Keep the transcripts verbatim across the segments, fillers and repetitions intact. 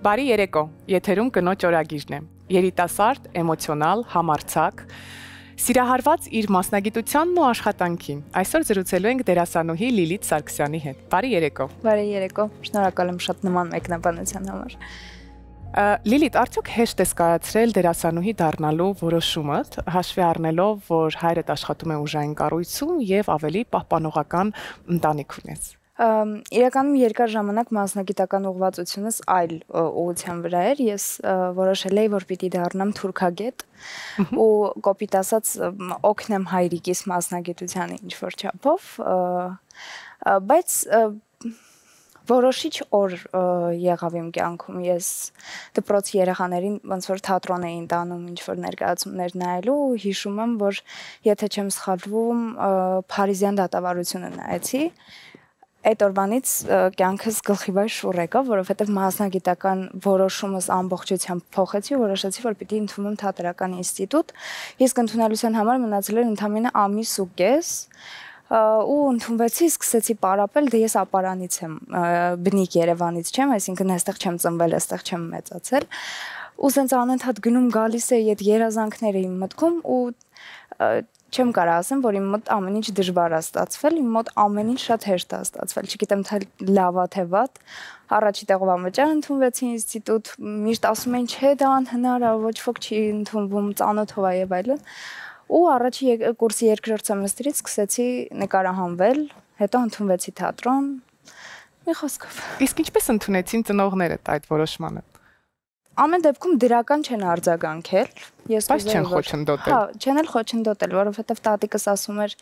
Բարի երեկո, եթերում կնոջ օրագիրն է, երիտասարդ, էմոցիոնալ, համարձակ, սիրահարված իր մասնագիտությանն ու աշխատանքին, այսօր զրուցելու ենք դերասանուհի Լիլիթ Սարգսյանի հետ, բարի երեկո։ Բարի երեկո, շնորհակալ եմ շատ նման մեկնաբանության համար։ Լիլիթ, արդյոք հեշտ ես կայացրել դերասանուհի դառնալու որոշումդ, հաշվի առնելով, որ հայրդ աշխատում է ուժային կառույցում եւ ավելի պահպանողական ընտանիք ունես։ Իրականում երկար ժամանակ մասնագիտական ուղղվածությունս այլ ուղղության վրա էր, ես որոշել էի, որ պիտի դառնամ թուրքագետ ու կոպիտ ասած օգնեմ հայրիկիս մասնագիտությանը ինչ-որ չափով, բայց որոշիչ օր եղավ իմ կյանքում, ես դպրոցի երեխաներին ոնց որ թատրոն էին տանում ինչ-որ ներկայացումներ նայելու, հիշում եմ, որ եթե չեմ սխալվում, Փարիզյան դատավարությունը նայեցի, այդ օրվանից կյանքս գլխիվայր շուռ եկավ, որովհետև մասնագիտական որոշումս ամբողջությամբ փոխեցի ու որոշեցի, որ պիտի ընդունում թատերական ինստիտուտ, իսկ ընդունելության համար մնացել էր ընդամենը ամիս ու կես, ու ընդունվեցի, սկսեցի պարապել, դե ես ապարանից եմ, բնիկ Երևանից չեմ, այսինքն այստեղ չեմ ծնվել, այստեղ չեմ մեծացել, ու սենց անընդհատ գնում գալիս էի այդ երազանքները իմ մտքում ու չեմ կարող ասեմ, որ իմ մոտ ամեն ինչ դժվար է ստացվել, իմ մոտ ամեն ինչ շատ հեշտ է ստացվել, չգիտեմ թե լավ է թե վատ, առաջի տեղով անվճար ընդունվեցի ինստիտուտ, միշտ ասում էին, չէ, դա անհնար է, ոչ ոք չի ընդունվում, ծանոթով է եւ այլն, ու առաջի կուրսի երկրորդ սեմեստրից սկսեցի նկարահանվել, հետո ընդունվեցի թատրոն, մի խոսքով։ Իսկ ինչպես ընդունեցին ծնողներդ այդ որոշմանը։ Ամեն դեպքում դրական չեն արձագանքել, ես բայց չեն խոչընդոտել։ Հա, չեն էլ խոչընդոտել, որովհետև տատիկս ասում էր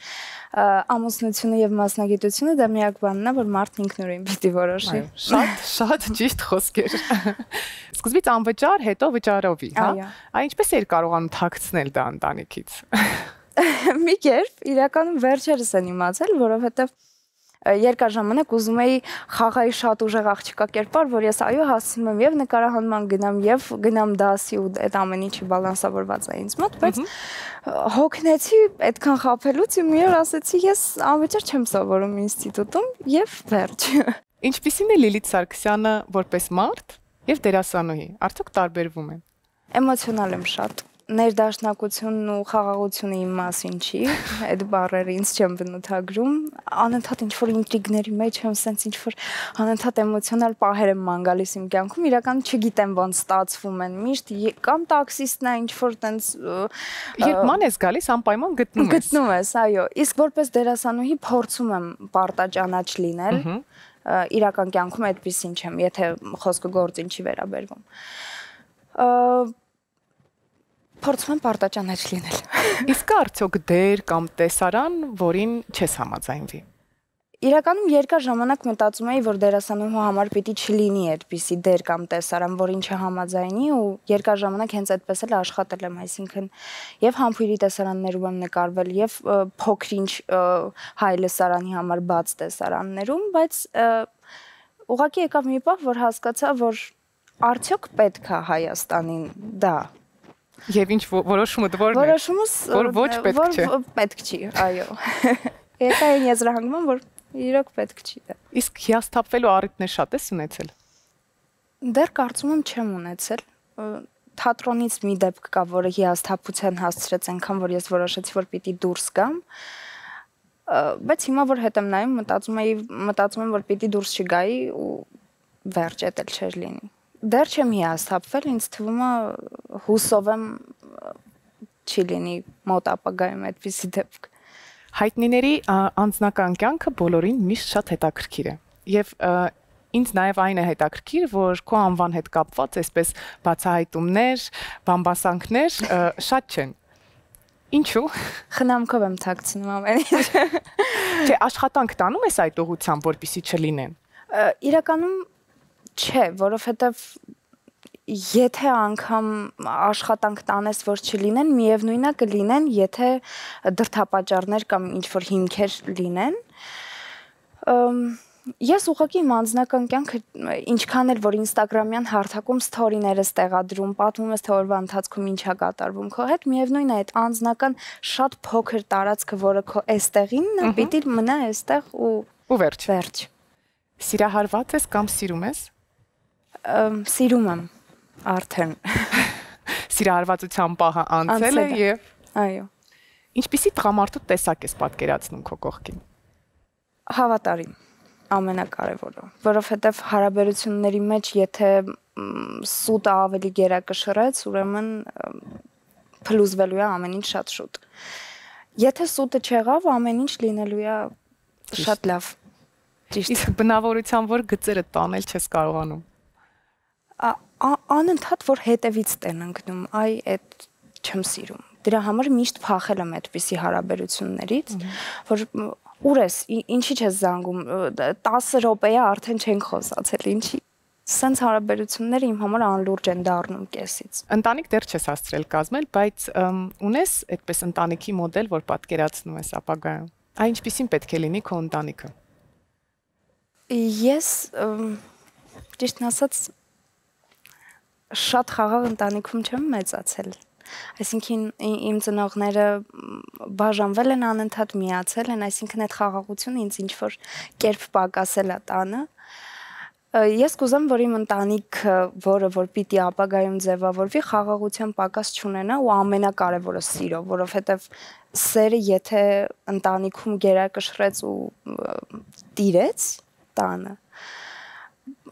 ամուսնությունը եւ մասնագիտությունը դա միակ բանն է, որ մարդն ինքնուրույն պիտի որոշի։ Շատ, շատ ճիշտ խոսքեր։ Սկզբից անվճար, հետո վճարովի, հա։ Այ ինչպես էր կարողանում թաքցնել դա ընտանիքից։ Մի կերպ իրականում վերջերս են իմացել, որովհետև երկար ժամանակ ուզում էի խաղայի շատ ուժեղ աղջկա կերպար, որ ես այո հասցնում եմ եւ նկարահանման գնամ եւ գնամ դասի ու այդ ամեն ինչը բալանսավորված է ինձ մոտ, բայց հոգնեցի այդքան խաբելուց ու մի օր ասեցի ես անվճար չեմ սովորում ինստիտուտում եւ վերջ։ Ինչպիսին է Լիլիթ Սարգսյանը որպես մարդ եւ դերասանուհի, արդյոք տարբերվում են։ Էմոցիոնալ եմ շատ։ Ներդաշնակությունն ու խաղաղությունը իմ մասին չի, այդ բառերը ինձ չեմ բնութագրում, անընդհատ ինչ-որ ինտրիգների մեջ եմ, սենց ինչ-որ անընդհատ էմոցիոնալ պահեր եմ ման գալիս իմ կյանքում, իրականում չգիտեմ ոնց ստացվում են, միշտ կամ տաքսիստն է ինչ-որ տենց երբ ման ես գալիս անպայման գտնում ես։ Գտնում ես, այո, իսկ որպես դերասանուհի փորձում եմ պարտաճանաչ լինել, իրական կյանքում այդպեսին չեմ, եթե խոսքը գործին չի վերաբերվում։ Փորձում եմ պարտաճանաչ լինել։ Իսկ արդյոք դեր կամ տեսարան, որին չես համաձայնվի։ Իրականում երկար ժամանակ մտածում էի, որ դերասանուհու համար պիտի չլինի այդպիսի դեր կամ տեսարան, որին չհամաձայնի ու երկար ժամանակ հենց այդպես էլ աշխատել եմ, այսինքն եւ համբույրի տեսարաններում եմ նկարվել եւ փոքրինչ հայ լսարանի համար բաց տեսարաններում, բայց ուղղակի եկավ մի պահ, որ հասկացա, որ արդյոք պետք է Հայաստանին դա Եվ ինչ որոշումդ որն է։ Որոշումս որ ոչ պետք չէ։ Պետք չի, այո։ Եկա այն եզրահանգման, որ իրոք պետք չի դա։ Իսկ հիասթափվելու առիթներ շատ ես ունեցել։ Դեռ կարծում եմ չեմ ունեցել։ Թատրոնից մի դեպք կա, որը հիասթափության հասցրեց այնքան, որ ես որոշեցի, որ պիտի դուրս գամ։ Բայց հիմա որ հետ եմ նայում, մտածում էի, մտածում եմ, որ պիտի դուրս չգայի ու վերջ էտել չէր լինի։ Դեռ չեմ հիասթափվել, ինձ թվում է հուսով եմ չի լինի մոտ ապագայում այդպիսի դեպք։ Հայտնիների անձնական կյանքը բոլորին միշտ շատ հետաքրքիր է։ Եվ ինձ նաև այն է հետաքրքիր, որ քո անվան հետ կապված այսպես բացահայտումներ, բամբասանքներ շատ չեն։ Ինչու՞։ Խնամքով եմ թաքցնում ամեն ինչ։ Չէ, աշխատանք տանում ես այդ ուղղությամբ, որպեսզի չլինեն։ Իրականում չէ, որովհետև եթե անգամ աշխատանք տանես, որ չլինեն, միևնույնն է կլինեն, եթե դրդապատճառներ կամ ինչ-որ հիմքեր լինեն։ Ես ուղղակի իմ անձնական կյանքը ինչքան էլ որ ինստագրամյան հարթակում սթորիներս տեղադրում, պատմում ես թե օրվա ընթացքում ինչ է կատարվում քո հետ, միևնույնն է այդ անձնական շատ փոքր տարածքը, որը քո էստեղինն է, պիտի մնա էստեղ ու ու վերջ։ Վերջ։ Սիրահարված ես կամ սիրում ես։ Սիրում եմ արդեն։ Սիրահարվածության պահը անցել է եւ այո։ Ինչպիսի տղամարդու տեսակ ես պատկերացնում քո կողքին։ Հավատարիմ, ամենակարևորը, որովհետև հարաբերությունների մեջ եթե սուտը ավելի գերակշռեց, ուրեմն փլուզվելու է ամեն ինչ շատ շուտ։ Եթե սուտը չեղավ, ամեն ինչ լինելու է շատ լավ։ Ճիշտ։ Իսկ բնավորության որ գծերը տանել չես կարողանում։ Անընդհատ որ հետևից տեն ընկնում, այ այդ չեմ սիրում։ Դրա համար միշտ փախել եմ այդպիսի հարաբերություններից, որ ուր ես, ինչի՞ չես զանգում, տասը րոպե է արդեն չենք խոսացել, ինչի։ Սենց հարաբերությունները իմ համար անլուրջ են դառնում կեսից։ Ընտանիք դեռ չես հասցրել կազմել, բայց ունես այդպես ընտանիքի մոդել, որ պատկերացնում ես ապագայում։ Այ ինչպիսին պետք է լինի քո ընտանիքը։ Ես ճիշտն ասած շատ խաղաղ ընտանիքում չեմ մեծացել։ Այսինքն իմ ծնողները բաժանվել են անընդհատ միացել են, այսինքն այդ խաղաղությունը ինձ ինչ որ կերպ պակասել է տանը։ Ես կուզեմ, որ իմ ընտանիքը, որը որ պիտի ապագայում ձևավորվի, խաղաղության պակաս չունենա ու ամենակարևորը սիրո, որովհետև սերը եթե ընտանիքում գերակշռեց ու տիրեց տանը,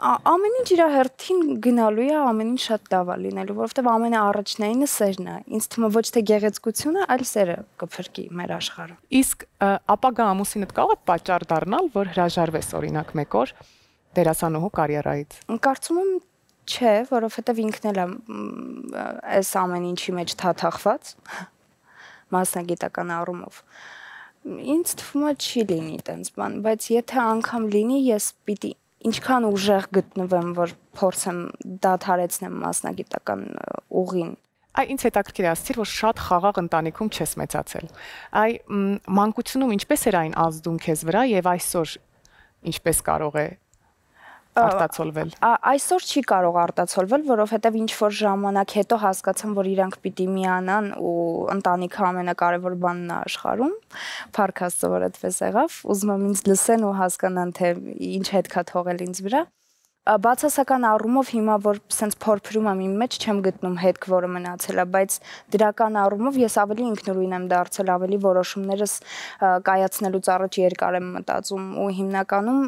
ամեն ինչ իր հերթին գնալու է, ամեն ինչ շատ լավ է լինելու, որովհետև ամենաառաջնայինը սերն է։ Ինձ թվում է ոչ թե գեղեցկությունը, այլ սերը կփրկի մեր աշխարհը։ Իսկ ապագա ամուսինդ կարող է պատճառ դառնալ, որ հրաժարվես օրինակ մեկ օր դերասանուհու կարիերայից։ Կարծում եմ չէ, որովհետև ինքն էլ է այս ամեն ինչի մեջ թաթախված մասնագիտական առումով։ Ինձ թվում է չի լինի այդպես բան, բայց եթե անգամ լինի, ես պիտի ինչքան ուժեղ գտնվեմ, որ փորձեմ դադարեցնեմ մասնագիտական ուղին։ Այ ինձ հետաքրքիր է ասացիր, որ շատ խաղաղ ընտանիքում չես մեծացել։ Այ մանկությունում ինչպես էր այն ազդում քեզ վրա եւ այսօր ինչպես կարող է արտացոլվել։ Այսօր չի կարող արտացոլվել, որովհետև ինչ որ ժամանակ հետո հասկացամ, որ իրանք պիտի միանան ու ընտանիքը ամենակարևոր բանն է աշխարհում։ Փառք Աստծո, որ այդպես եղավ։ Ուզում եմ ինձ լսեն ու հասկանան, թե ինչ հետք է թողել ինձ վրա։ Բացասական առումով հիմա որ սենց փորփրում եմ իմ մեջ չեմ գտնում հետք, որը մնացել է, բայց դրական առումով ես ավելի ինքնուրույն եմ դարձել, ավելի որոշումներս կայացնելուց առաջ երկար եմ մտածում ու հիմնականում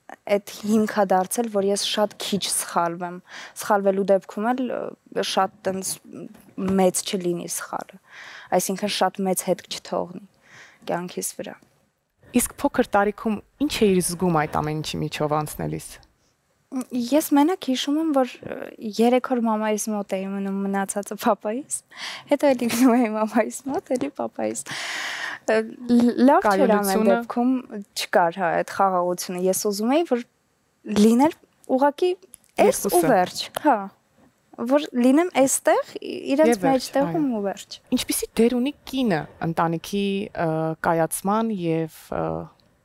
այդ հիմքա դարձել, որ ես շատ քիչ սխալվեմ։ Սխալվելու դեպքում էլ շատ տենց մեծ չլինի սխալը։ Այսինքն շատ մեծ հետք չթողնի կյանքիս վրա։ Իսկ փոքր տարիքում ինչ էիր զգում այդ ամեն ինչի միջով անցնելիս։ Ես մենակ հիշում եմ, որ երեք օր մամայիս մոտ էի մնում, մնացածը պապայիս, հետո էլի գնում էի մամայիս մոտ, էլի պապայիս։ Լավ չէր ամեն դեպքում չկար հա այդ խաղաղությունը։ Ես ուզում էի, որ լիներ ուղղակի էս ու վերջ, հա, որ լինեմ այստեղ, իրենց մեջտեղում ու վերջ։ Ինչպիսի դեր ունի կինը ընտանիքի կայացման եւ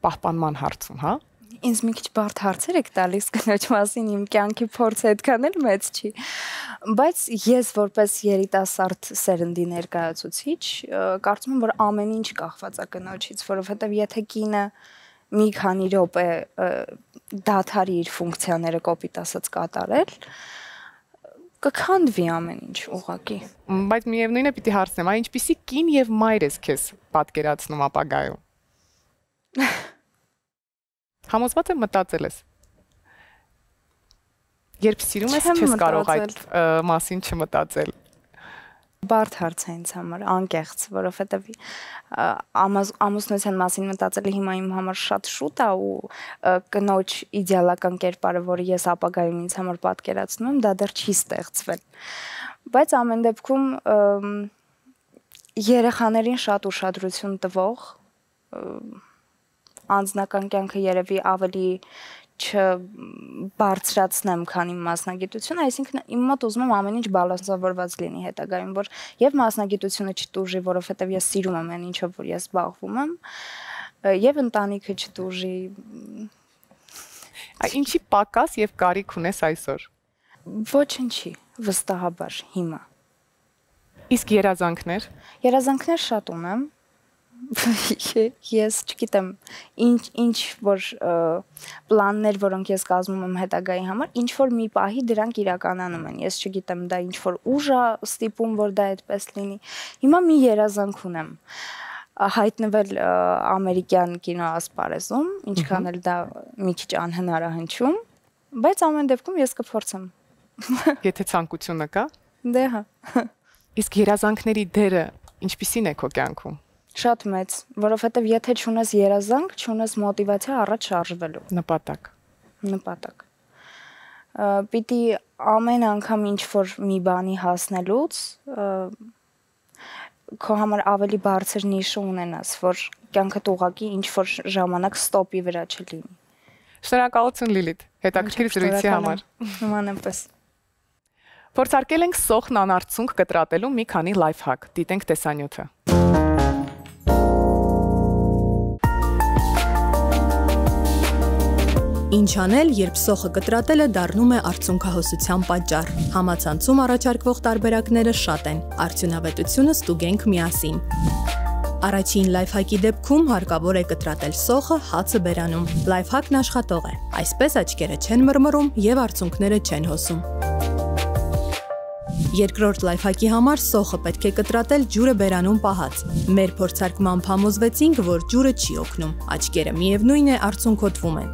պահպանման հարցում, հա։ Ինձ մի քիչ բարդ հարցեր եք տալիս կնոջ մասին, իմ կյանքի փորձը այդքան էլ մեծ չի։ Բայց ես որպես երիտասարդ սերնդի ներկայացուցիչ կարծում եմ, որ ամեն ինչ կախված է կնոջից, որովհետև եթե կինը մի քանի րոպե դադարի իր ֆունկցիաները կոպիտ ասած կատարել, կքանդվի ամեն ինչ ուղղակի։ Բայց միևնույնն է պիտի հարցնեմ, այ ինչպիսի կին եւ մայր ես քեզ պատկերացնում ապագայում։ Համոզված եմ մտածել ես։ Երբ սիրում ես, չես կարող այդ մասին չմտածել։ Բարդ հարց է ինձ համար, անկեղծ, որովհետև ամուսնության մասին մտածելը հիմա իմ համար շատ շուտ է ու կնոջ իդեալական կերպարը, որը ես ապագայում ինձ համար պատկերացնում եմ, դա դեռ չի ստեղծվել։ Բայց ամեն դեպքում երեխաներին շատ ուշադրություն տվող անձնական կյանքը երևի ավելի չբարձրացնեմ, քան իմ մասնագիտությունը, այսինքն իմ մոտ ուզում եմ ամեն ինչ բալանսավորված լինի հետագայում, որ եւ մասնագիտությունը չտուժի, որովհետեւ ես սիրում եմ այն ինչով որ ես զբաղվում եմ, եւ ընտանիքը չտուժի։ Այ ինչի պակաս եւ կարիք ունես այսօր։ Ոչինչի, վստահաբար հիմա։ Իսկ երազանքներ։ Երազանքներ շատ ունեմ։ Ես չգիտեմ, ինչ ինչ որ պլաններ, որոնք ես կազմում եմ հետագայի համար, ինչ որ մի պահի դրանք իրականանում են։ Ես չգիտեմ, դա ինչ որ ուժ է ստիպում, որ դա այդպես լինի։ Հիմա մի երազանք ունեմ հայտնվել ամերիկյան կինոասպարեզում, ինչքան էլ դա մի քիչ անհնար է հնչում, բայց ամեն դեպքում ես կփորձեմ։ Եթե ցանկությունը կա։ Դե հա։ Իսկ երազանքների դերը ինչպիսին է քո կյանքում։ Շատ մեծ, որովհետև եթե չունես երազանք, չունես մոտիվացիա առաջ շարժվելու։ Նպատակ։ Նպատակ։ Պիտի ամեն անգամ ինչ որ մի բանի հասնելուց քո համար ավելի բարձր նիշը ունենաս, որ կյանքդ ուղղակի ինչ որ ժամանակ ստոպի վրա չլինի։ Շնորհակալություն Լիլիթ, հետաքրքիր զրույցի համար։ Նմանապես։ Փորձարկել ենք սոխն անարցունք կտրատելու մի քանի լայֆհակ։ Դիտենք տեսանյութը։ Ինչ անել, երբ սոխը կտրատելը դառնում է արցունքահոսության պատճառ։ Համացանցում առաջարկվող տարբերակները շատ են։ Արդյունավետությունը ստուգենք միասին։ Առաջին լայֆհակի դեպքում հարկավոր է կտրատել սոխը հացը բերանում։ Լայֆհակն աշխատող է։ Այսպես աչքերը չեն մռմռում եւ արցունքները չեն հոսում։ Երկրորդ լայֆհակի համար սոխը պետք է կտրատել ջուրը բերանում պահած։ Մեր փորձարկմամբ համոզվեցինք, որ ջուրը չի օգնում։ Աչքերը միևնույն է արցունքոտվում են։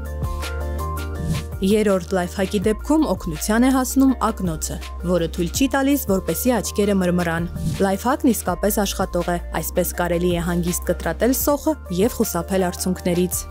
Երրորդ լայֆհակի դեպքում օգնության է հասնում ակնոցը, որը թույլ չի տալիս, որպեսզի աչքերը մռմռան։ Լայֆհակն իսկապես աշխատող է, այսպես կարելի է հանգիստ կտրատել սոխը եւ խուսափել արցունքներից։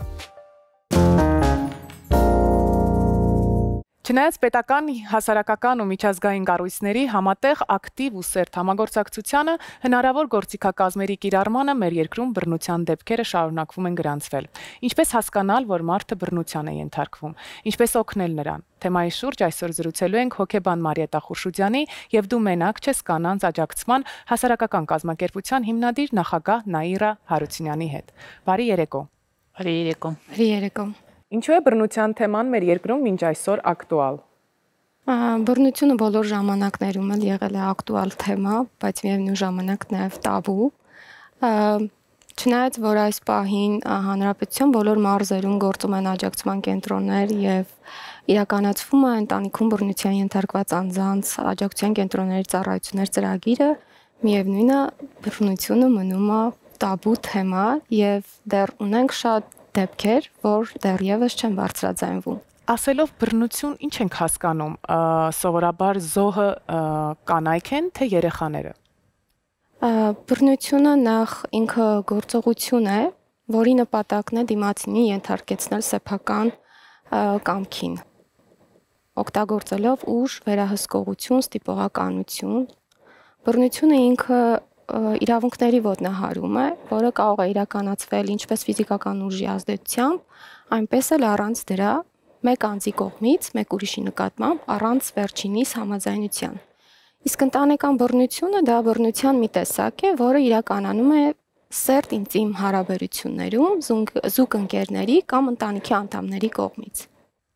Չնայած պետական, հասարակական ու միջազգային կառույցների համատեղ ակտիվ ու սերտ համագործակցությանը հնարավոր գործիքակազմերի կիրառմանը մեր երկրում բռնության դեպքերը շարունակվում են գրանցվել։ Ինչպես հասկանալ, որ մարդը բռնության է ենթարկվում, ինչպես օգնել նրան։ Թեմայի շուրջ այսօր զրուցելու ենք հոգեբան Մարիետա Խուրշուդյանի եւ Դու մենակ չես կանանց աջակցման հասարակական կազմակերպության հիմնադիր նախագահ Նաիրա Հարությունյանի հետ։ Բարի երեկո։ Բարի երեկո։ Բարի երեկո։ Ինչու է բռնության թեման մեր երկրում մինչ այսօր ակտուալ։ Բռնությունը բոլոր ժամանակներում էլ եղել է ակտուալ թեմա, բայց միևնույն ժամանակ նաև տաբու։ Չնայած որ այս պահին հանրապետության բոլոր մարզերում գործում են աջակցման կենտրոններ եւ իրականացվում է ընտանիքում բռնության ենթարկված անձանց աջակցության կենտրոնների ծառայություններ ծրագիրը, միևնույնն է բռնությունը մնում է տաբու թեմա եւ դեռ ունենք շատ դեպքեր, որ դեռևս չեն բարձրաձայնվում։ Ասելով բռնություն, ինչ ենք հասկանում։ Սովորաբար զոհը կանայք են, թե երեխաները։ Բռնությունը նախ ինքը գործողություն է, որի նպատակն է դիմացինի ենթարկեցնել սեփական կամքին, օգտագործելով ուժ, վերահսկողություն, ստիպողականություն։ Բռնությունը ինքը իրավունքների ոտնահարում է, որը կարող է իրականացվել ինչպես ֆիզիկական ուժի ազդեցությամբ, այնպես էլ առանց դրա մեկ անձի կողմից, մեկ ուրիշի նկատմամբ, առանց վերջինիս համաձայնության։ Իսկ ընտանեկան բռնությունը դա բռնության մի տեսակ է, որը իրականանում է սերտ ինտիմ հարաբերություններում զուգընկերների կամ ընտանիքի անդամների կողմից։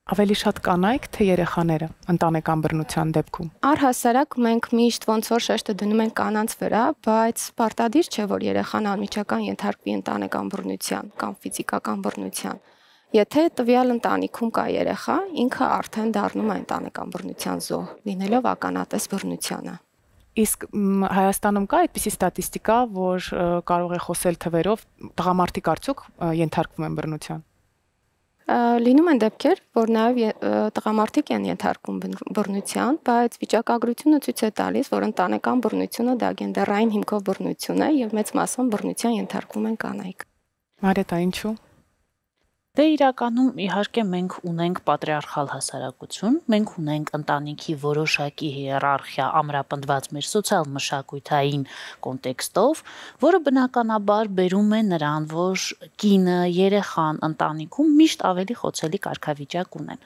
Ավելի շատ կանայք, թե երեխաները ընտանեկան բռնության դեպքում։ Առհասարակ մենք միշտ ոնց որ շեշտը դնում ենք կանանց վրա, բայց պարտադիր չէ, որ երեխան անմիջական ենթարկվի ընտանեկան բռնության կամ ֆիզիկական բռնության։ Եթե տվյալ ընտանիքում կա երեխա, ինքը արդեն դառնում է ընտանեկան բռնության զոհ, լինելով ականատես բռնությանը։ Իսկ Հայաստանում կա այդպիսի ստատիստիկա, որ կարող է խոսել թվերով, տղամարդիկ արդյոք ենթարկվում են բռնության։ Լինում են դեպքեր, որ նաև տղամարդիկ են ենթարկվում բռնության, բայց վիճակագրությունը ցույց է տալիս, որ ընտանեկան բռնությունը դա գենդերային հիմքով բռնություն է եւ մեծ մասամբ բռնության ենթարկվում են կանայք։ Մարիետա, ինչու։ Դե իրականում իհարկե մենք ունենք պատրիարխալ հասարակություն, մենք ունենք ընտանիքի որոշակի հիերարխիա ամրապնդված մեր սոցիալ-մշակութային կոնտեքստով, որը բնականաբար բերում է նրան, որ կինը, երեխան ընտանիքում միշտ ավելի խոցելի կարգավիճակ ունեն։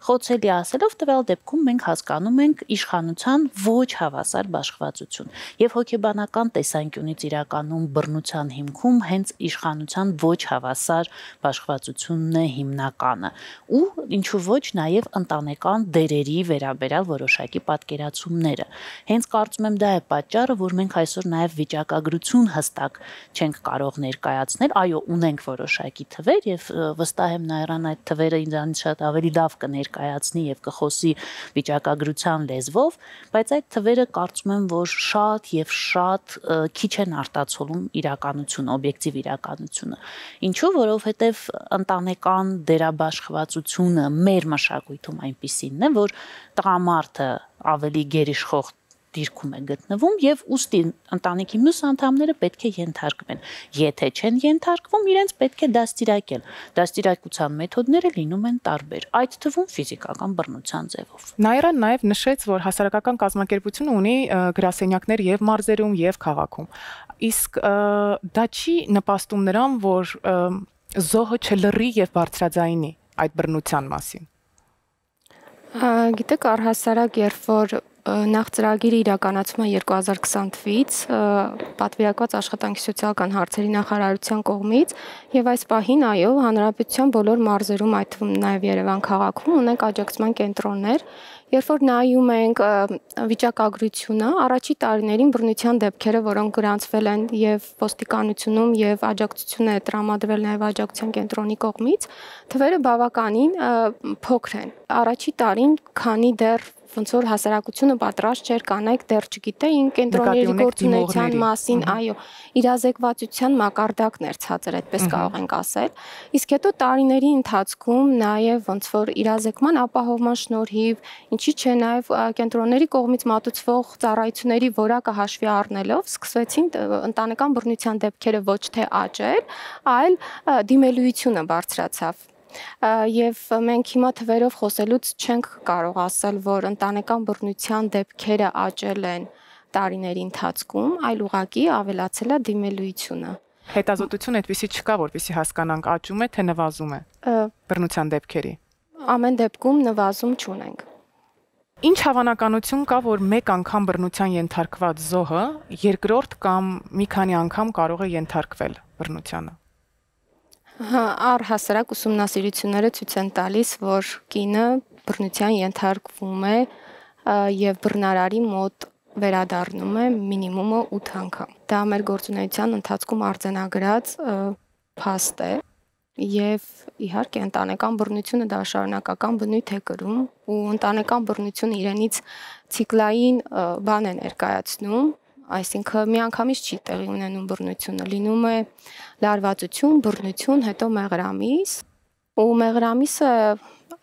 Խոցելի ասելով տվյալ դեպքում մենք հասկանում ենք իշխանության ոչ հավասար բաշխվածություն եւ հոգեբանական տեսանկյունից իրականում բռնության հիմքում հենց իշխանության ոչ հավասար բաշխվածությունն է հիմնականը ու ինչու ոչ նաեւ ընտանեկան դերերի վերաբերյալ որոշակի պատկերացումները։ Հենց կարծում եմ դա է պատճառը, որ մենք այսօր նաեւ վիճակագրություն հստակ չենք կարող ներկայացնել, այո, ունենք որոշակի թվեր եւ վստահ եմ Նաիրան այդ թվերը ինձանից շատ ավելի լավ կներկայացնի եւ կխոսի վիճակագրության լեզվով, բայց այդ թվերը կարծում եմ, որ շատ եւ շատ քիչ են արտացոլում իրականությունը, օբյեկտիվ իրականությունը։ Ինչու, որովհետեւ ընտանեկան դերաբաշխվածությունը մեր մշակույթում այնպիսինն է, որ տղամարդը ավելի գերիշխող դիրքում է գտնվում եւ ուստի ընտանիքի մյուս անդամները պետք է ենթարկվեն։ Եթե չեն ենթարկվում, իրենց պետք է դաստիարակել։ Դաստիարակության մեթոդները լինում են տարբեր, այդ թվում ֆիզիկական բռնության ձևով։ Նաիրան նաեւ նշեց, որ հասարակական կազմակերպությունը ունի գրասենյակներ եւ մարզերում եւ քաղաքում։ Իսկ դա չի նպաստում նրան, որ զոհը չլռի եւ բարձրաձայնի այդ բռնության մասին։ Գիտեք, առհասարակ, երբ որ նախ ծրագիրը իրականացվում է երկու հազար քսան թվականից պատվիրակված աշխատանքի սոցիալական հարցերի նախարարության կողմից եւ այս պահին այո հանրապետության բոլոր մարզերում, այդ թվում նաեւ Երևան քաղաքում ունենք աջակցման կենտրոններ, երբ որ նայում ենք վիճակագրությունը, առաջի տարիներին բռնության դեպքերը, որոնք գրանցվել են եւ ոստիկանությունում եւ աջակցություն է տրամադրվել նաեւ աջակցության կենտրոնի կողմից, թվերը բավականին փոքր են։ Առաջի տարին քանի դեռ ոնց որ հասարակությունը պատրաստ չէր կանայք դեռ չգիտեին կենտրոնների գործունեության մասին, այո, իրազեկվածության մակարդակն էր ցածր, այդպես կարող ենք ասել։ Իսկ հետո տարիների ընթացքում նաև ոնց որ իրազեկման ապահովման շնորհիվ, ինչի՞ չէ նաև կենտրոնների կողմից մատուցվող ծառայությունների որակը հաշվի առնելով սկսվեցին ընտանեկան բռնության դեպքերը ոչ թե աճել, այլ դիմելույությունը բարձրացավ։ Եվ մենք հիմա թվերով խոսելուց չենք կարող ասել, որ ընտանեկան բռնության դեպքերը աճել են տարիների ընթացքում, այլ ուղղակի ավելացել է դիմելույությունը։ Հետազոտություն այդպեսի չկա, որպեսզի հասկանանք աճում է, թե նվազում է բռնության դեպքերի։ Ամեն դեպքում նվազում չունենք։ Ինչ հավանականություն կա, որ մեկ անգամ բռնության ենթարկված զոհը երկրորդ կամ մի քանի անգամ կարող է ենթարկվել բռնությանը։ Առհասարակ ուսումնասիրությունները ցույց են տալիս, որ կինը բռնության ենթարկվում է եւ բռնարարի մոտ վերադառնում է մինիմումը ութ անգամ։ Դա մեր գործունեության ընթացքում արձանագրած փաստ է եւ իհարկե ընտանեկան բռնությունը դա շարունակական բնույթ է կրում ու ընտանեկան բռնությունը իրենից ցիկլային բան է ներկայացնում, այսինքն միանգամից չի տեղի ունենում բռնությունը, լինում է լարվածություն, բռնություն, հետո մեղրամիս, ու մեղրամիսը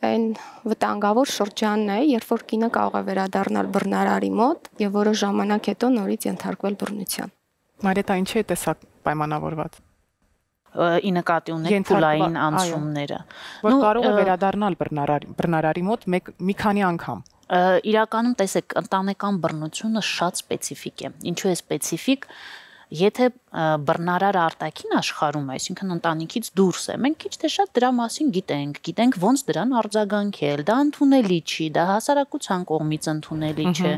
այն վտանգավոր շրջանն է, երբ որ կինը կարող է վերադառնալ բռնարարի մոտ եւ որոշ ժամանակ հետո նորից ենթարկվել բռնության։ Մարիետա, ինչի է տեսակ պայմանավորված։ Ի նկատի ունեք փուլային անցումները։ Որ կարող է վերադառնալ բռնարարի բռնարարի մոտ մի քանի անգամ։ Իրականում տեսեք, ընտանեկան բռնությունը շատ սպეციფիկ է։ Ինչու է սպეციფիկ։ Եթե բռնարարը արտաքին աշխարհում է, այսինքն ընտանիքից դուրս է, մենք քիչ թե շատ դրա մասին գիտենք, գիտենք ոնց դրան արձագանքել, դա ընդունելի չի, դա հասարակության կողմից ընդունելի չէ։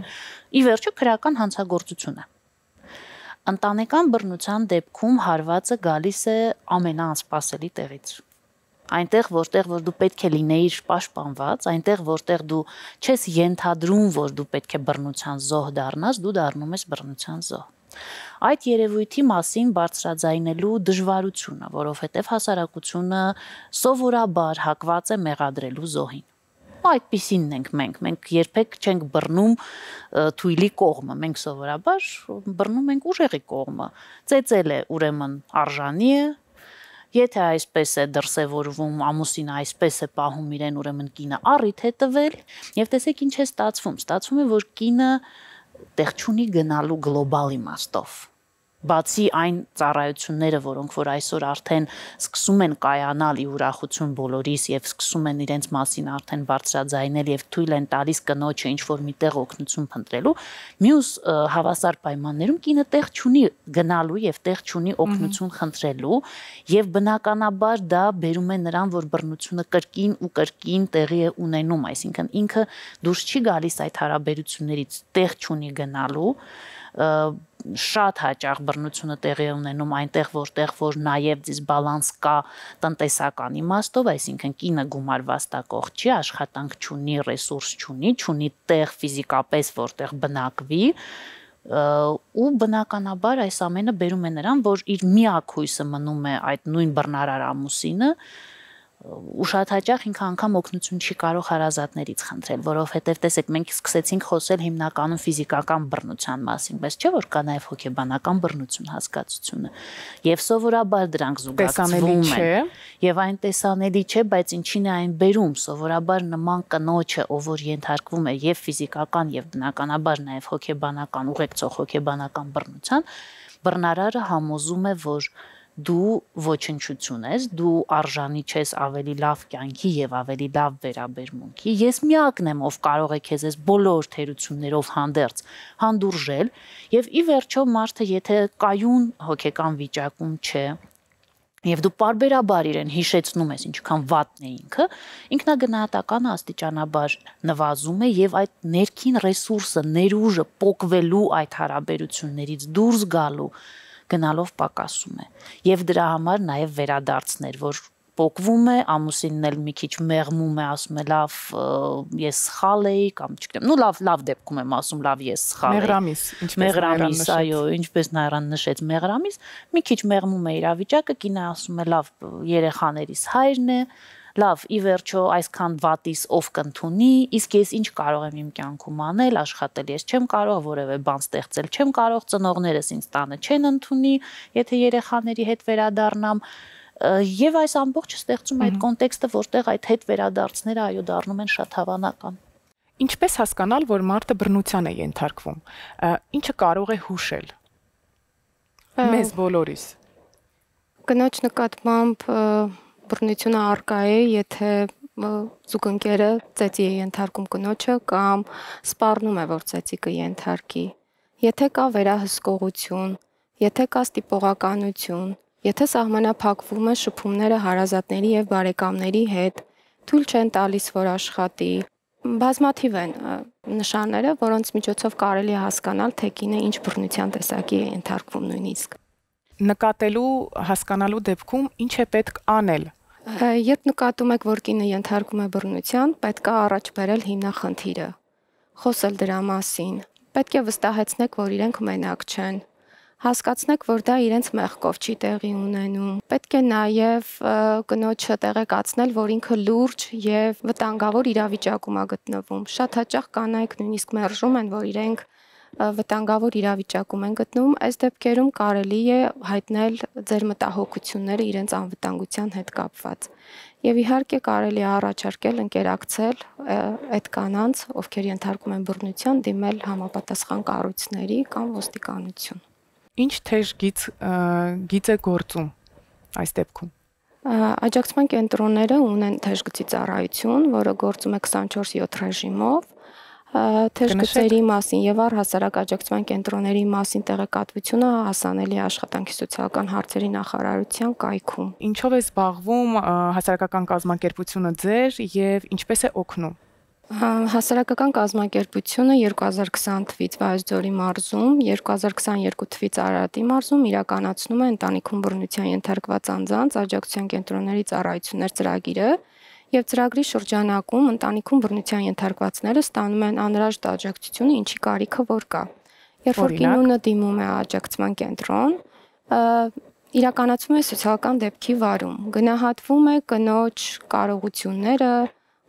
Ի վերջո քրեական հանցագործություն է։ Ընտանեկան բռնության դեպքում հարվածը գալիս է ամենաանսպասելի տեղից։ Այնտեղ, որտեղ որ դու պետք է լինեիր պաշտպանված, այնտեղ, որտեղ դու չես ենթադրում, որ դու պետք է բռնության զոհ դառնաս, դու դառնում ես բռնության զոհ։ Այդ երևույթի մասին բարձրաձայնելու դժվարությունը, որովհետև հասարակությունը սովորաբար հակված է մեղադրելու զոհին։ Այդպիսինն ենք մենք, մենք երբեք չենք բռնում թույլի կողմը, մենք սովորաբար բռնում ենք ուժեղի կողմը։ Ծեծել է, ուրեմն արժանի է, եթե այսպես է դրսևորվում, ամուսինը այսպես է պահում իրեն, ուրեմն կինը առիթ է տվել, եւ տեսեք ինչ է ստացվում, ստացվում է, որ կինը տեղ չունի գնալու գլոբալ իմաստով։ Բացի այն ծառայությունները, որոնք որ այսօր արդեն սկսում են կայանալ ի ուրախություն բոլորիս եւ սկսում են իրենց մասին արդեն բարձրաձայնել եւ թույլ են տալիս կնոջը ինչ որ միտեղ օգնություն փնտրելու, մյուս հավասար պայմաններում կինը տեղ չունի գնալու եւ տեղ չունի օգնություն խնդրելու եւ բնականաբար դա բերում է նրան, որ բռնությունը կրկին ու կրկին տեղի է ունենում, այսինքն ինքը դուրս չի գալիս այդ հարաբերություններից, տեղ չունի գնալու շատ հաճախ բռնությունը տեղի է ունենում այնտեղ որտեղ որ նաև դիսբալանս կա տնտեսական իմաստով, այսինքն կինը գումարվաստակող չի, աշխատանք չունի, ռեսուրս չունի, չունի տեղ ֆիզիկապես որտեղ բնակվի ու բնականաբար այս ամենը բերում է նրան, որ իր միակ հույսը մնում է այդ նույն բռնարար ամուսինը ու շատ հաճախ ինքը անգամ օգնություն չի կարող հարազատներից խնդրել, որովհետև տեսեք, մենք սկսեցինք խոսել հիմնականում ֆիզիկական բռնության մասին, բայց չէ՞ որ կա նաև հոգեբանական բռնություն հասկացությունը։ Եվ սովորաբար դրանք զուգակցվում են։ Եվ այն տեսանելի չէ, բայց ինչին է այն բերում, սովորաբար նման կնոջը, ով որ ենթարկվում է եւ ֆիզիկական եւ բնականաբար նաև հոգեբանական, ուղեկցող հոգեբանական բռնության, բռնարարը համոզում է, որ դու ոչնչություն ես, դու արժանի չես ավելի լավ կյանքի եւ ավելի լավ վերաբերմունքի։ Ես միակն եմ, ով կարող է քեզ այս բոլոր թերություններով հանդերձ հանդուրժել եւ ի վերջո մարդը եթե կայուն հոգեկան վիճակում չէ եւ դու պարբերաբար իրեն հիշեցնում ես ինչքան վատն է ինքը, ինքնագնահատականը աստիճանաբար նվազում է եւ այդ ներքին ռեսուրսը, ներուժը պոկվելու այդ հարաբերություններից դուրս գալու գնալով պակասում է եւ դրա համար նաեւ վերադարձներ, որ պոկվում է, ամուսինն էլ մի քիչ մեղմում է, ասում է լավ ես սխալ էի կամ չգիտեմ, ну լավ լավ դեպքում եմ ասում լավ ես սխալ էի։ Մեղրամիս, ինչպես մեղրամիս, այո, ինչպես Նայրան նշեց, մեղրամիս, մի քիչ մեղմում է իրավիճակը, կինը ասում է լավ երեխաներիս հայրն է, լավ, ի վերջո այսքան վատիս ով կընդունի, իսկ ես ինչ կարող եմ իմ կյանքում անել, աշխատել ես չեմ կարող, որևէ բան ստեղծել չեմ կարող, ծնողներս ինձ տանը չեն ընդունի, եթե երեխաների հետ վերադառնամ, եւ այս ամբողջը ստեղծում այդ կոնտեքստը, որտեղ այդ հետ վերադարձները այո դառնում են շատ հավանական։ Ինչպես հասկանալ, որ մարդը բռնության է ենթարկվում։ Ինչը կարող է հուշել։ Մեզ բոլորիս։ Կնոջ նկատմամբ բռնությունը առկա է, եթե զուգընկերը ծեծի է ենթարկում կնոջը կամ սպառնում է, որ ծեծի կենթարկի։ Եթե կա վերահսկողություն, եթե կա ստիպողականություն, եթե սահմանափակվում է շփումները հարազատների եւ բարեկամների հետ, թույլ չեն տալիս, որ աշխատի, բազմաթիվ են նշանները, որոնց միջոցով կարելի է հասկանալ, թե կինը ինչ բռնության տեսակի է ենթարկվում նույնիսկ։ Նկատելու, հասկանալու դեպքում ինչ է պետք անել։ Երբ նկատում եք, որ կինը ենթարկվում է բռնության, պետք է առաջ բերել հիմնախնդիրը, խոսել դրա մասին, պետք է վստահեցնեք, որ իրենք մենակ չեն, հասկացնեք, որ դա իրենց մեղքով չի տեղի ունենում, պետք է նաև կնոջը տեղեկացնել, որ ինքը լուրջ եւ վտանգավոր իրավիճակում է գտնվում։ Շատ հաճախ կանայք նույնիսկ մերժում են, որ իրենք վտանգավոր իրավիճակում են գտնվում, այս դեպքերում կարելի է հայտնել ձեր մտահոգությունները իրենց անվտանգության հետ կապված։ Եվ իհարկե կարելի է առաջարկել ընկերակցել այդ կանանց, ովքեր ենթարկում են բռնության, դիմել համապատասխան կառույցների կամ ոստիկանություն։ Ինչ թեժ գիծ գիծ է գործում այս դեպքում։ Աջակցման կենտրոնները ունեն թեժգծի ծառայություն, որը գործում է քսանչորս յոթ ռեժիմով։ Թեժգծերի մասին եւ առհասարակ աջակցման կենտրոնների մասին տեղեկատվությունը հասանելի է աշխատանքի սոցիալական հարցերի նախարարության կայքում։ Ինչով է զբաղվում հասարակական կազմակերպությունը ձեր եւ ինչպես է օգնում։ Հասարակական կազմակերպությունը երկու հազար քսան թվականից Վայոց-Ձորի մարզում, երկու հազար քսաներկու թվականից Արարատի մարզում իրականացնում է ընտանիքում բռնության ենթարկված անձանց աջակցության կենտրոնների ծառայություններ ծրագիրը եւ ծրագրի շրջանակում ընտանիքում բռնության ենթարկվածները ստանում են անհրաժեշտ աջակցությունը, ինչի կարիքը որ կա։ Երբ որ կինունը դիմում է աջակցման կենտրոն, իրականացվում է սոցիալական դեպքի վարում, գնահատվում է կնոջ կարողությունները,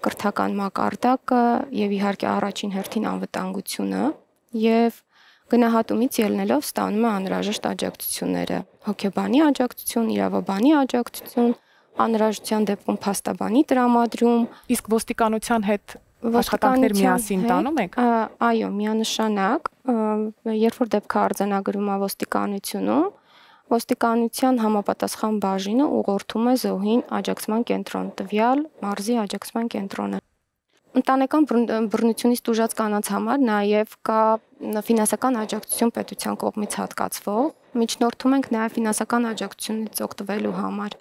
կրթական մակարդակը եւ իհարկե առաջին հերթին անվտանգությունը եւ գնահատումից ելնելով ստանում է անհրաժեշտ աջակցությունները՝ հոգեբանի աջակցություն, իրավաբանի աջակցություն, անհրաժեշտության դեպքում փաստաբանի տրամադրում։ Իսկ ոստիկանության հետ աշխատանքներ միասին տանում եք։ Այո, միանշանակ երբ որ դեպքը արձանագրում է ոստիկանությունում, ոստիկանության համապատասխան բաժինը ուղղորդում է զոհին աջակցման կենտրոն, տվյալ մարզի աջակցման կենտրոնը։ Ընտանեկան բռնությունից տուժած կանանց համար նաև կա ֆինանսական աջակցություն պետության կողմից հատկացվող, միջնորդում ենք նաև ֆինանսական աջակցությունից օգտվելու համար։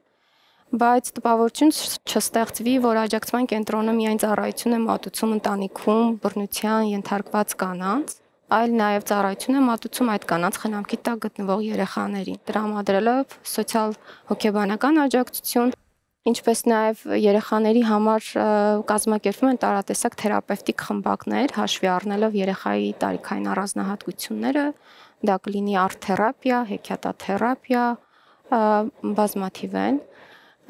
Բայց տպավորություն չստեղծվի, որ աջակցման կենտրոնը միայն ծառայություն է մատուցում ընտանիքում բռնության ենթարկված կանանց, այլ նաև ծառայություն է մատուցում այդ կանանց խնամքի տակ գտնվող երեխաներին, տրամադրելով սոցիալ-հոգեբանական աջակցություն, ինչպես նաև երեխաների համար կազմակերպվում են տարատեսակ թերապևտիկ խմբակներ, հաշվի առնելով երեխայի տարիքային առանձնահատկությունները, դա կլինի արտ-թերապիա, հեքիաթաթերապիա, բազմաթիվ են։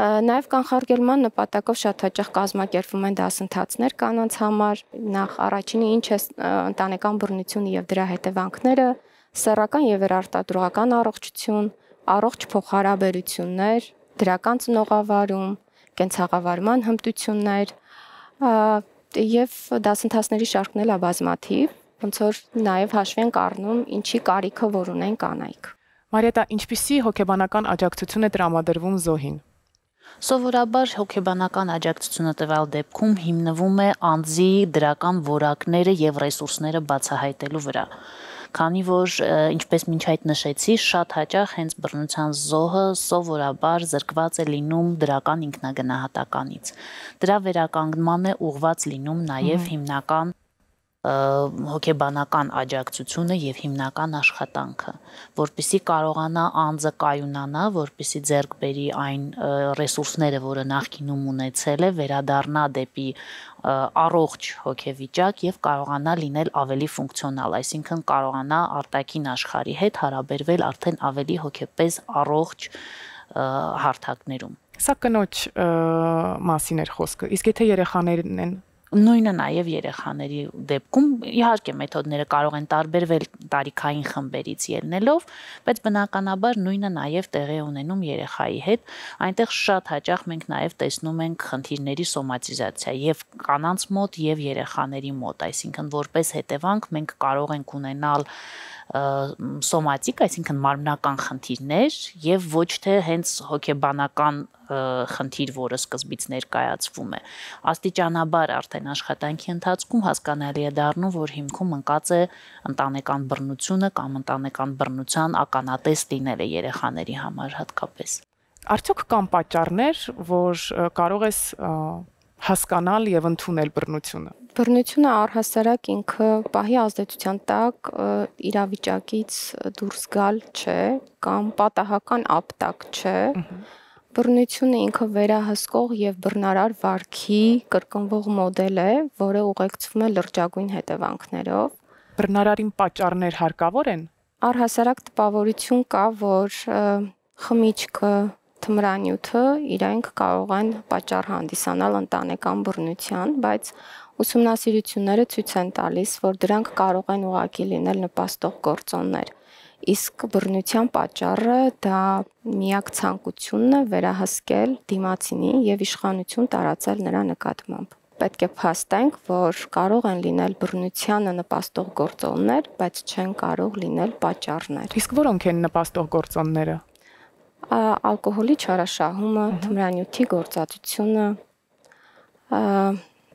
Նաև կանխարգելման նպատակով շատ հաճախ կազմակերպվում են դասընթացներ կանանց համար, նախ առաջինը ինչ է ընտանեկան բռնությունը եւ դրա հետևանքները, սեռական եւ վերարտադրողական առողջություն, առողջ փոխհարաբերություններ, դրական ծնողավարում, կենցաղավարման հմտություններ եւ դասընթացների շարքն էլ է բազմաթիվ, ոնց որ նաև հաշվի ենք առնում ինչի կարիքը որ ունեն կանայք։ Մարիետա, ինչպիսի հոգեբանական աջակցություն է տրամադրվում զոհին։ Սովորաբար հոգեբանական աջակցությունը տվյալ դեպքում հիմնվում է անձի դրական որակները եւ ռեսուրսները բացահայտելու վրա։ Քանի որ ինչպես մինչ այդ նշեցի, շատ հաճախ հենց բռնության զոհը սովորաբար զրկված է լինում դրական ինքնագնահատականից։ Դրա վերականգնման է ուղղված լինում նաեւ հիմնական հոգեբանական աջակցությունը եւ հիմնական աշխատանքը, որպեսզի կարողանա անձը կայունանա, որպեսզի ձեռք բերի այն ռեսուրսները, որը նախկինում ունեցել է, վերադառնա դեպի առողջ հոգեվիճակ եւ կարողանա լինել ավելի ֆունկցիոնալ, այսինքն կարողանա արտաքին աշխարհի հետ հարաբերվել արդեն ավելի հոգեպես առողջ հարթակներում։ Սա կնոջ մասին էր խոսքը, իսկ եթե երեխաներն են Նույնը նաև երեխաների դեպքում իհարկե մեթոդները կարող են տարբերվել տարիքային խմբերից ելնելով, բայց բնականաբար նույնը նաև տեղի ունենում երեխայի հետ, այնտեղ շատ հաճախ մենք նաև տեսնում ենք խնդիրների սոմատիզացիա եւ կանանց մոտ եւ երեխաների մոտ, այսինքն որպես հետևանք մենք կարող ենք ունենալ սոմատիկ, այսինքն մարմնական խնդիրներ եւ ոչ թե հենց հոգեբանական խնդիր, որը սկզբից ներկայացվում է։ Աստիճանաբար արդեն աշխատանքի ընթացքում հասկանալի է դառնում, որ հիմքում ընկած է ընտանեկան բռնությունը կամ ընտանեկան բռնության ականատես լինելը երեխաների համար հատկապես։ Արդյոք կան պատճառներ, որ կարող ես հասկանալ եւ ընդունել բռնությունը։ Բռնությունը առհասարակ ինքը պահի ազդեցության տակ իրավիճակից դուրս գալ չէ կամ պատահական ապտակ չէ։ Բռնությունը ինքը վերահսկող եւ բռնարար վարքի կրկնվող մոդել է, որը ուղեկցվում է լրջագույն հետևանքներով։ Բռնարարին պատճառներ հարկավոր են։ Առհասարակ տպավորություն կա, որ խմիչքը, թմրանյութը իրենք կարող են պատճառ հանդիսանալ ընտանեկան բռնության, բայց ուսումնասիրությունները ցույց են տալիս, որ դրանք կարող են ուղղակի լինել նպաստող գործոններ։ Իսկ բռնության պատճառը դա միակ ցանկությունն է վերահսկել դիմացինի եւ իշխանություն տարածել նրա նկատմամբ։ Պետք է փաստենք, որ կարող են լինել բռնությանը նպաստող գործոններ, բայց չեն կարող լինել պատճառներ։ Իսկ որոնք են նպաստող գործոնները։ Ալկոհոլի չարաշահումը, թմրանյութի գործածությունը,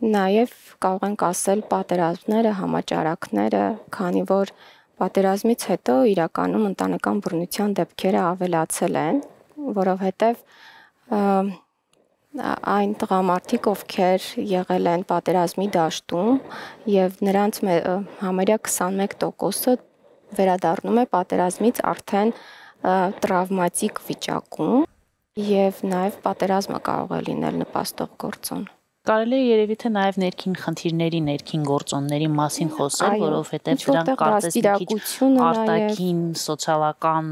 նաև կարող ենք ասել պատերազմները, համաճարակները, քանի որ պատերազմից հետո իրականում ընտանեկան բռնության դեպքերը ավելացել են, որովհետև այն տղամարդիկ, ովքեր եղել են պատերազմի դաշտում եւ նրանց համարյա քսանմեկ տոկոսը վերադառնում է պատերազմից արդեն տրավմատիկ վիճակում եւ նաեւ պատերազմը կարող է լինել նպաստող գործոն։ Կարելի է երևի թե նաև ներքին խնդիրների, ներքին գործոնների մասին խոսել, որովհետև դրանք կարծես մի քիչ արտաքին սոցիալական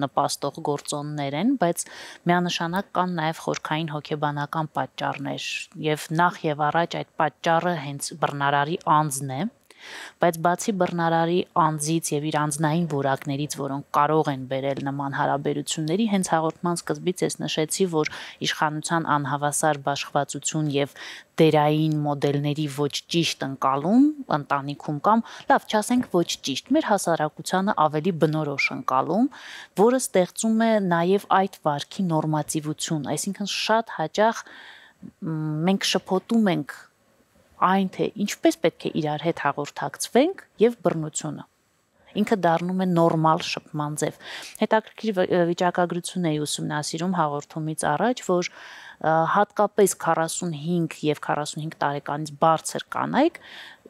նպաստող գործոններ են, բայց միանշանակ կան նաև խորքային հոգեբանական պատճառներ, եւ նախ եւ առաջ այդ պատճառը հենց բռնարարի անձն է, Բայց բացի բռնարարի անձից եւ իր անձնային որակներից, որոնք կարող են բերել նման հարաբերությունների, հենց հաղորդման սկզբից ես նշեցի, որ իշխանության անհավասար բաշխվածություն եւ դերային մոդելների ոչ ճիշտ ընկալում ընտանիքում կամ լավ, չասենք ոչ ճիշտ, մեր հասարակությանը ավելի բնորոշ ընկալում, որը ստեղծում է նաեւ այդ վարքի նորմատիվություն, այսինքն շատ հաճախ մենք շփոթում ենք այն թե ինչպես պետք է իրար հետ հաղորդակցվենք եւ բռնությունը ինքը դառնում է նորմալ շփման ձև։ Հետաքրքիր վիճակագրություն էի ուսումնասիրում հաղորդումից առաջ, որ հատկապես քառասունհինգ եւ քառասունհինգ տարեկանից բարձր կանայք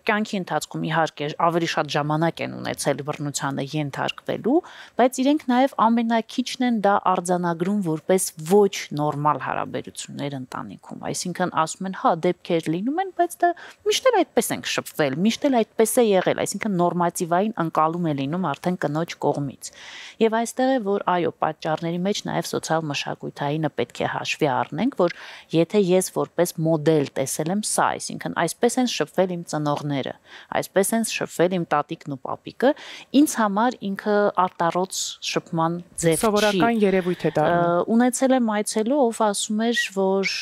կյանքի ընթացքում իհարկե ավելի շատ ժամանակ են ունեցել բռնությանը ենթարկվելու, բայց իրենք նաև ամենակիչն են դա արձանագրում որպես ոչ նորմալ հարաբերություններ ընտանիքում, այսինքն ասում են, հա, դեպքեր լինում են, բայց դա միշտ էլ այդպես ենք շփվել, միշտ էլ այդպես է եղել, այսինքն նորմատիվային ընկալում է լինում արդեն կնոջ կողմից։ Եվ այստեղ է, որ այո, պատճառների մեջ նաև սոցիալ մշակութայինը պետք է հաշվի առնենք, որ եթե ես որպես մոդել տեսել եմ սա, այսինքն այսպես են շփվել իմ ծնողները, այսպես են շփվել իմ տատիկն ու պապիկը, ինձ համար ինքը արտառոց շփման ձև չի։ Սովորական երևույթ է դառնում։ Ունեցել եմ այցելու, ով ասում էր, որ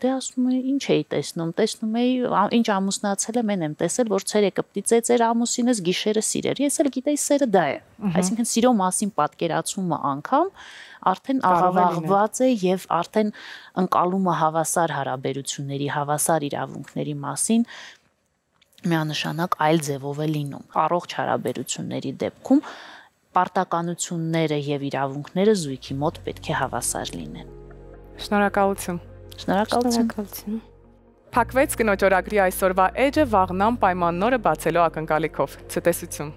դե ասում է, ինչ էի տեսնում, տեսնում էի, ինչ ամուսնացել եմ, են եմ տեսել, որ ցերեկը պիտի ծեր ամուսինս գիշերը սիրեր։ Ես էլ գիտեի սերը դա է։ Այսինքն սիրո մասին պատկերացումը անգամ արդեն աղավաղված է եւ արդեն ընկալումը հավասար հարաբերությունների, հավասար իրավունքների մասին միանշանակ այլ ձևով է լինում։ Առողջ հարաբերությունների դեպքում պարտականությունները եւ իրավունքները զույգի մոտ պետք է հավասար լինեն։ Շնորհակալություն։ Շնորհակալություն։ Փակվեց կնոջ օրագրի այսօրվա էջը վաղնամ պայմանները բացելու ակնկալիքով։ Ցտեսություն։